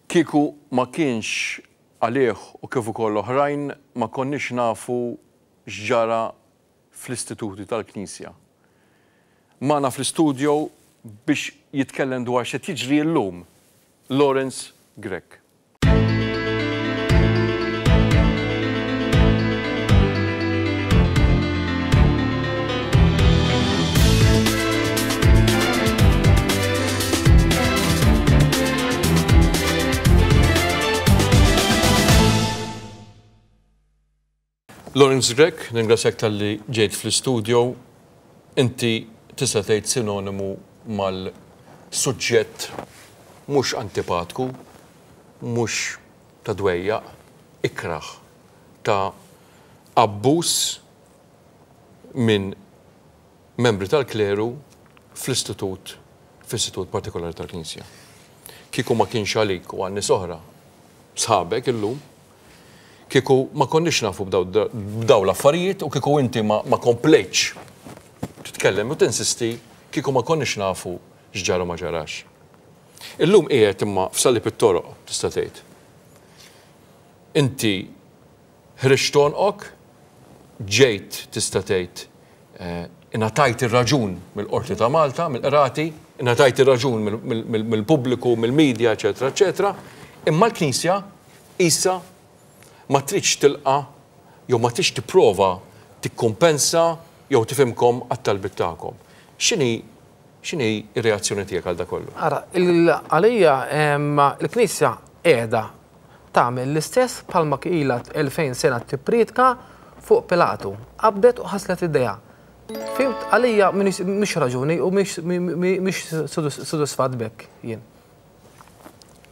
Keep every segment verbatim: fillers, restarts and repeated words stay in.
Kieku ma kienx għalih u kif ukoll oħrajn ma konniex nafu x'ġara fl-istituti tal-Knisja. Magħna fl-istudio biex jitkellem dwar x'qed jiġri llum, Lawrence Grech. Lawrence Grech, ningrazzjak talli ġejt fl-istudio. Inti tista' tgħid sinonimu mal-suġġett mhux antipatku, mhux ta' dwejjaq, ikrah ta' abbuż minn membri tal-kleru fl-istitut, fl-istitut partikolari tal-Knisja. Kieku ma kienx għalik u għal nies oħra sħabek illum, kieku ma konniex nafu b'daw l-affarijiet u kieku inti ma, ma komplejtx titkellem u tinsisti, kieku ma konniex nafu x'ġara ma ġarax. Illum qiegħed imma f'salib it-toroq, tista' tgħid. Inti ħriġt għonqok, ġejt tista' tgħid ingħatajt ir-raġun mill-Qorti ta' Malta, mill-qrati, ingħatajt ir-raġun mill-pubbliku, mill-medja, eċetera, eċetera, imma l-Knisja issa ma tridx tilqa' jew ma tridx tipprova tikkumpensa jew tifhimkom għat-talbiet tagħkom. X'inhi x'inhi r-reazzjoni tiegħek għal dak kollu? Ara, għalija l-Knisja qiegħda tagħmel l-istess bħalma ilha elfejn sena tippriedka fuq Pilatu. Qabdet u ħaslet idejha. Fimt, għalija mhix raġuni u mhix sodisfatt b'hekk jien.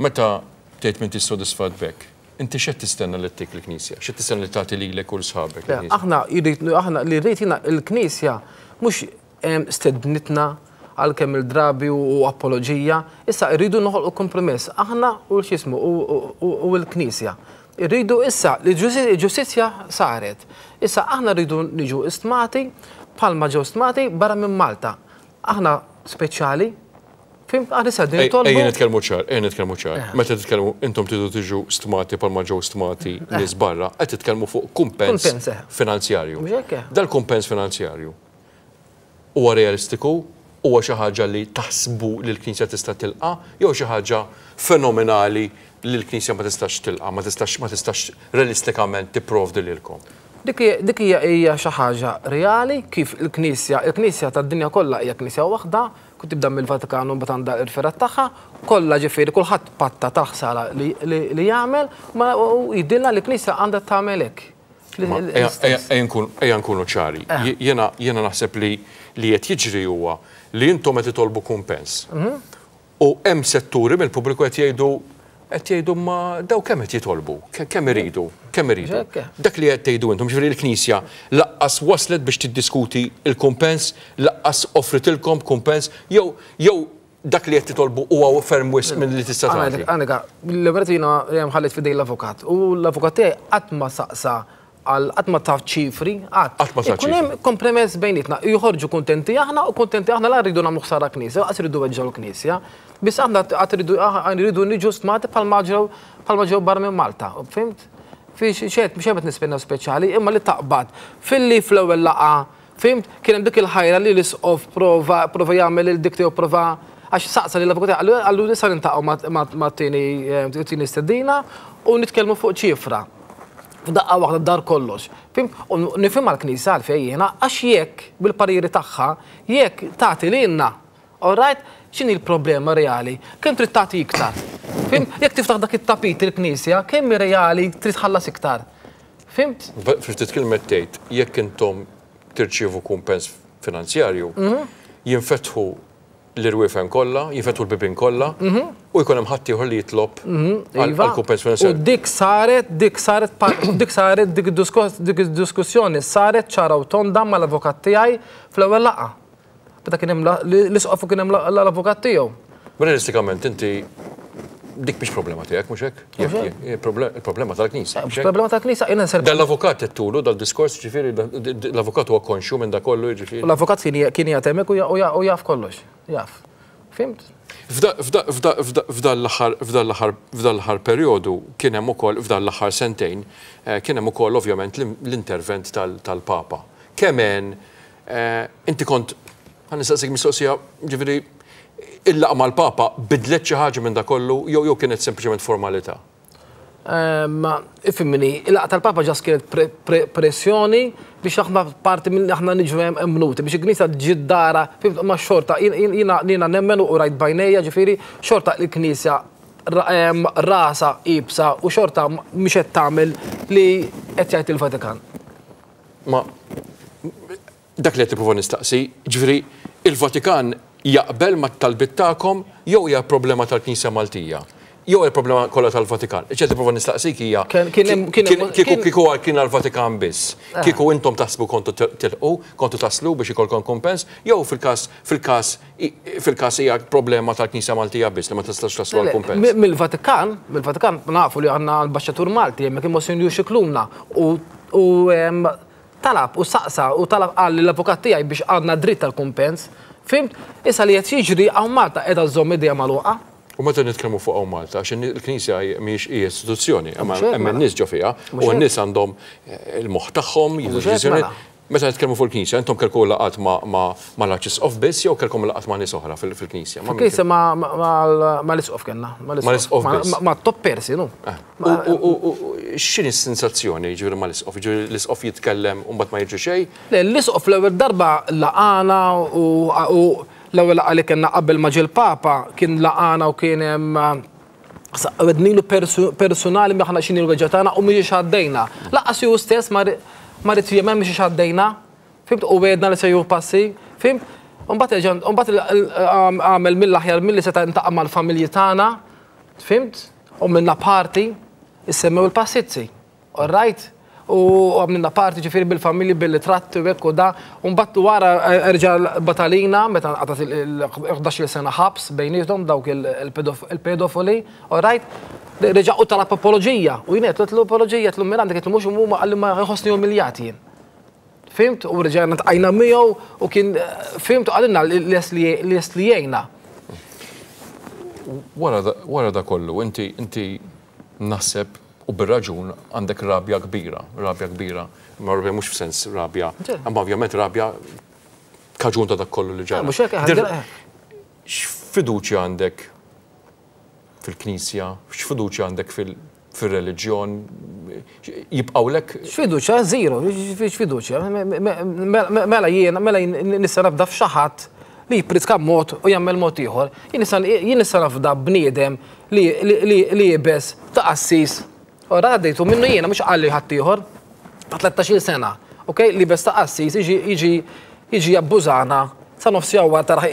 Meta tgħid m'intix sodisfatt b'hekk, inti x'qed tistenna li ttik il-Knisja? X'qed tistenna li tagħti lilek u l-sħabek il-Knisja? Aħna aħna li rrid jiena il-Knisja mhux stednitna għal kemm il-drabi u apoloġija, issa rridu noħolqu kompromess aħna u x'ismu u l-Knisja. Irridu issa li ġustizzja saret. Issa aħna rridu niġu istmati bħalma ġew stmati barra minn Malta. Aħna speċjali. Ejja nitkellmu ċar, ejja nitkellmu ċar. Meta titkellmu intom tridu tiġu stmati bħalma ġew stmati nies barra, qed titkellmu fuq kumpens finanzjarju. Dal-kumpens finanzjarju huwa realistiku, huwa xi ħaġa li taħsbu li l-Knisja tista' tilqa' jew xi ħaġa fenomenali li l-Knisja ma tistax tilqa', ma tistax ma tistax realistikament tipprovdi lilkom. Dik hija xi ħaġa reali kif il-Knisja, il-Knisja tad-dinja kollha hija Knisja waħda, kont tibda mill-Vatikan u mbagħad għandha l-irferat tagħha, kollha ġifieri kulħadd patta tal-ħsara li jagħmel u jidilna li l-Knisja għandha tagħmel hekk. Ejja nkunu ċari. Jiena naħseb li li qed jiġri huwa li intom qed titolbu kumpens. U hemm setturi mill-pubbliku qed jgħidu qed jgħidu ma daw kemm qed jitolbu, kemm iridu, kemm iridu. Dak li qed tgħidu intom, ġifieri l-Knisja laqqas waslet biex tiddiskuti l-kumpens, laqqas offritilkom kumpens, jew jew dak li qed titolbu huwa ferm wisq minn li tista' tagħti. Għandek, l-ewwel jiena ħallit f'idej l-avukat u l-avukat tiegħi qatt ma saqsa għal qatt ma taf ċifri, qatt. Ikun hemm kompromess bejnietna, joħorġu kuntenti aħna u kuntenti aħna la rridu nagħmlu ħsara Knisja, laqas irridu weġġgħu l-Knisja. Biss aħna qatt irridu niġu stmati bħalma ġew bħalma ġew barra minn Malta, fimt? Fi xejn mhux qed nistennew speċjali, imma li taqbad filli fl-ewwel laqgħa, fimt? Kien hemm dik il-ħajra li l-isqof prova prova jagħmel il-dik tiegħu prova għax saqsa li l-avukat qallu nista' niltaqgħu mat-tieni stedina u nitkellmu fuq ċifra. F'daqqa waħda dar kollox. Fim, u nifhimha l-Knisja għalfejn jiena għax jekk bil-pariri tagħha, jekk tagħti lilna, all right, x'inhi l-problema reali? Kemm trid tagħti iktar? Fim, jekk tiftaħ dak it-tapit il-Knisja, kemm reali trid tħallas iktar? Fimt? Ftit kelma tgħid, jekk intom tirċievu kumpens finanzjarju, jinfetħu l-irwiefen kollha, jinfetħu l-bibien kollha, u jkun hemm ħadd ieħor li jitlob għal kumpens finanzjarju. U dik saret, dik saret, dik saret, dik id-diskussjoni saret ċara u tonda mal-avukat tiegħi fl-ewwel laqgħa. Meta kien hemm l-isqof u kien hemm l-avukat tiegħu. Realistikament inti dik mhix problema tiegħek, mhux hekk? Il-problema tal-Knisja. Il-problema tal-Knisja jiena nservi. Dal-avukat qed tulu dal-diskors, ġifieri l-avukat huwa konxju minn dak kollu, ġifieri. L-avukat kien qiegħed hemmhekk u jaf kollox, jaf. Fhimt? F'dan l-aħħar perjodu kien hemm ukoll, f'dan l-aħħar sentejn, kien hemm ukoll ovvjament l-intervent tal-Papa. Kemm inti kont, ħa nistaqsik mistoqsija, ġifieri, il-laqgħa mal-Papa bidlet xi ħaġa minn da kollu jew jew kienet sempliċement formalità? Ifhimni, il-laqgħa tal-Papa ġas kienet pressjoni biex aħna parti minn aħna niġu emmnuti, biex il-Knisja ġiddara, ma xorta, jiena nemmen u rajt b'għajnejja, ġifieri, xorta il-Knisja rasa ibsa u xorta mhix qed tagħmel li qed jgħid il-Vatikan. Ma dak li qed tipprova nistaqsi, ġifieri, il-Vatikan jaqbel mat-talbiet tagħkom jew hija problema tal-Knisja Maltija? Jew il-problema kollha tal-Vatikan. Ċe tipprova nistaqsik hija kieku kieku kien għall-Vatikan biss. Kieku intom taħsbu kontu tilqu, kontu taslu biex ikolkom kumpens, jew fil-każ fil-każ fil-każ hija problema tal-Knisja Maltija biss li ma tistax taslu għall-kumpens. Mill-Vatikan, mill-Vatikan nafu li għandna ambaxxatur Malti hemmhekk il-Monsinjur Scicluna u talab u saqsa u talab qal l-avukat tiegħi biex għandna dritt tal-kumpens. Fhimt? Issa li qed jiġri hawn Malta qiegħda żomm idejha magħluqa. U meta nitkellmu fuq hawn Malta, għax il-Knisja mhijiex hija istituzzjoni, hemm in-nies ġo fiha, u n-nies għandhom il-moħħ tagħhom, jieħdu deċiżjonijiet. Meta nitkellmu fuq il-Knisja, intom kellkom laqgħat mal-Arċisqof biss jew kellkom laqgħat ma' nies oħra fil-Knisja? Fil-Knisja mal-Isqof kellna. Mal-Isqof biss. Ma' top persi, nu. U x'inhi s-sensazzjoni ġifieri mal-Isqof? Ġifieri l-Isqof jitkellem u mbagħad ma jiġri xejn? Le, l-Isqof l-ewwel darba laqana u l-ewwel laqgħa li kellna qabel ma ġie l-Papa kien laqana u kien hemm għednilu personali aħna x'inhi l-weġġa tagħna u mhijiex għaddejna. Lanqas hu stess ma rid jemmen mhijiex għaddejna, fhimt, u għedna li se jieħu passi, fhimt? U mbagħad għamel mill-aħjar milli seta' ntaqa' mal-familji tagħna, fhimt? U minna parti issemmew il-passizzi, all right? U għamilna parti ġifieri bil-familji, bil-tratti u hekk u da, u mbagħad wara erġa' batalina meta nqatat il-ħdax-il sena ħabs bejniethom dawk il-pedofili, all right? Reġa' u talab apoloġija, u jien għedtlu apoloġija, għedtlu minn għandek, għedtlu mhux huma qalli ma jħossni umiljat jien. Fhimt? U reġgħna tqajna miegħu u kien fhimt u qalilna li lest li jgħinna. Wara da kollu, inti inti naħseb u bir-raġun għandek rabja kbira, rabja kbira, ma rabja mhux f'sens rabja, imma ovvjament rabja kaġun ta' dak kollu li ġara. X'fiduċja għandek fil-Knisja, x'fiduċja għandek fil-reliġjon, jibqgħulek? X'fiduċja? Zero, x'fiduċja. Mela jiena, mela nista' nafda f'xi ħadd li jippritka mod u jagħmel mod ieħor. Jien nista' nafda bniedem li jibes ta' qassis. Ora għaddejtu minnu jiena mhux qalli ħadd ieħor ta' tlettax-il sena, ok? Li bes ta' qassis jiġi jiġi jabbużana sa nofsi għawar taraħ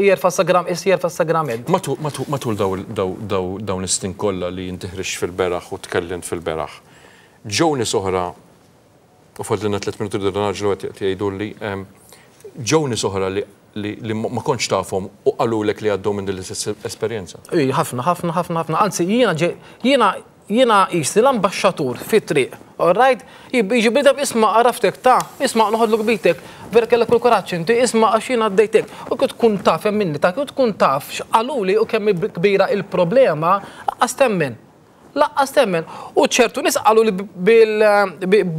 jerfa' jerfa' sagrament. Matul dawn is-snin kollha li inti ħriġt fil-beraħ u tkellimt fil-beraħ, ġew nies oħra, u fadlilna tliet minuti rridu naġlu qed jgħiduli, ġew nies oħra li ma kontx tafhom u qalulek li għaddew minn din l-istess esperjenza? Ej, ħafna, ħafna, ħafna, ħafna. Anzi, jiena jiena jiena qisni l-ambaxxatur fit-triq, all right? Jiġi bniedem isma' għaraftek ta' isma' noħodlok bitek, vera kellek il-kuraġġ inti, isma' għax jiena għaddejtek. U kif tkun taf hemm minni ta' kif tkun taf x'qaluli u kemm kbira il-problema, laqqas temmen. Laqqas temmen. U ċertu nies qalu li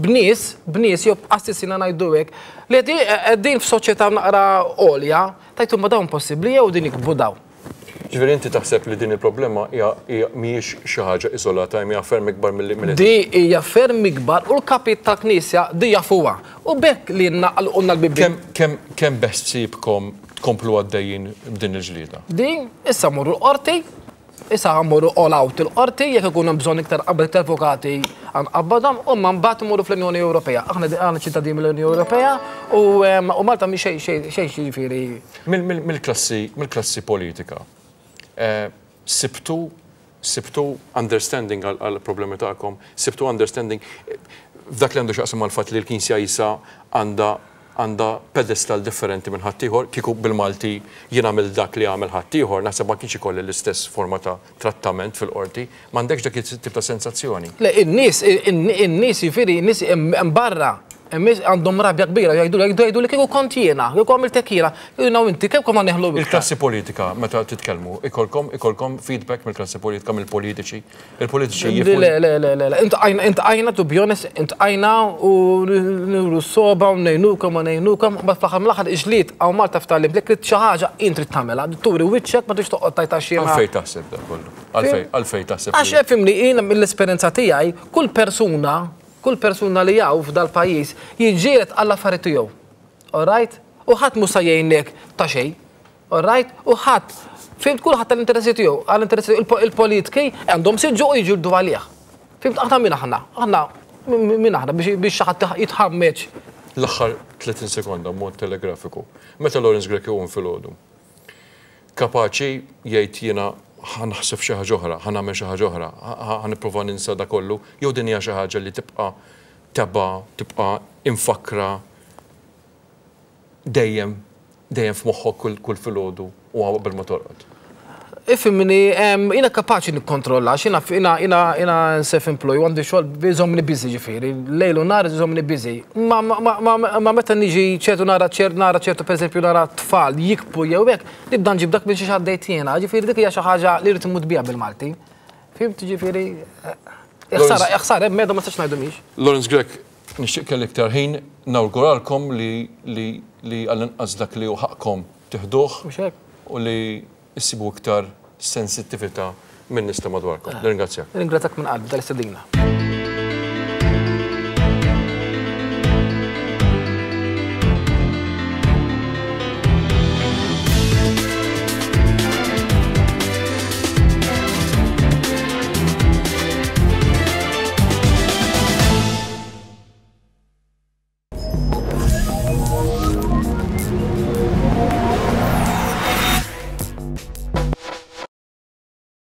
b'nies, b'nies jew b'qassisina ngħidu hekk, li qegħdin f'soċjetà naqra għolja, tajtu ma dawn possibbli jew din ikbu dawn. Ġifieri inti taħseb li din il-problema hija mhijiex xi ħaġa iżolata, hija ferm ikbar milli milli Di hija ferm ikbar u l-kapit tal-Knisja di jafuha. U bekk li naqalqulna l-bibien. Kemm kemm beħsiebkom tkomplu għaddejjin b'din il-ġlieda? Di issa mmorru l-qorti, issa mmorru all out il-qorti, jekk ikun hemm bżonn iktar qabel iktar avukati għanqabbadhom, u ma mbagħad imorru fl-Unjoni Ewropea. Aħna aħna ċittadini mill-Unjoni Ewropea u Malta mhi xejn xejn xejn jiġifieri. Mill-klassi mill-klassi politika. Sibtu sibtu understanding għal problemi tagħkom, sibtu understanding f'dak li għandu x'jaqsam mal-fatt li l-Knisja issa għandha għandha pedestal differenti minn ħaddieħor, kieku bil-Malti jien għamil dak li għamel ħaddieħor, naħseb ma kienx ikolli l-istess forma ta' trattament fil-qorti, m'għandekx dak it-tip ta' sensazzjoni. Le, in-nies, in-nies jiġifieri, in-nies hemm barra Imma għandhom rabja kbira, jgħidu jgħidu jgħidu li kieku kont jiena, kieku għamilt hekk jiena, jiena u inti kemm konna neħlu iktar. Il-klassi politika, meta titkellmu, ikolkom ikolkom feedback mill-klassi politika, mill-politiċi. Il-politiċi Le, jifhmu. le, le, le, le, le. Iltqajna, iltqajna, to be honest, iltqajna u nuru soba u ngħinukom u ngħinukom, but fl-aħħar mill-aħħar iġlied hawn Malta f'talim, li trid xi ħaġa int trid tagħmilha, turi wiċċek, ma tridx toqgħod tajta xi Għalfej taħseb da kollu? Għalfej, għalfej taħseb? Għax ifhimni, jiena mill-esperjenza tiegħi, kull persuna, kull persuna li hawn f'dal-pajjiż jiġġieled għall affarijiet tiegħu. All right? U ħadd mhux se jgħinek ta' xejn. All right? U ħadd, fhimt, kulħadd tal-interessi tiegħu, għall-interessi il- il-politiki għandhom siġġu u jiġġieldu għalih. Fhimt, aħna min aħna? Aħna min aħna biex biex xi ħadd jitħammeġ? L-aħħar tletin sekonda, mod telegrafiku. Meta Lawrence Grech iqum filgħodu, kapaċi jgħid jiena ħa naħseb xi ħaġa oħra, ħa nagħmel xi ħaġa oħra, ħa nipprova ninsa da kollu, jew din hija xi ħaġa li tibqa' teba, tibqa' imfakra dejjem dejjem f'moħħok kull kull filgħodu u qabel ma torqod? Ifhimni, jiena kapaċi nikkontrolla, x'jiena jiena jiena jiena self-employed, għandi xogħol iżommni busy ġifieri, lejl u nhar iżommni busy. Ma, ma, ma, ma meta niġi ċertu nara ċert nara ċertu, pereżempju nara tfal jikbu jew hekk, nibda nġib dak biex għaddejt jiena, ġifieri dik hija xi ħaġa li rrid immut biha bil-Malti. Fhimt, ġifieri, ħsara, ħsara, hemm meda ma nistax ngħidu mhix. Lawrence Grech, nixtieq kelli iktar ħin, nawguralkom li li li għall-inqas dak li hu ħaqqkom tiħduh Mhux hekk. u li issibu iktar sensittività minn nies ta' madwarkom. Nirringrazzjak. Ringrazzjak minn qalbi tal-istedina.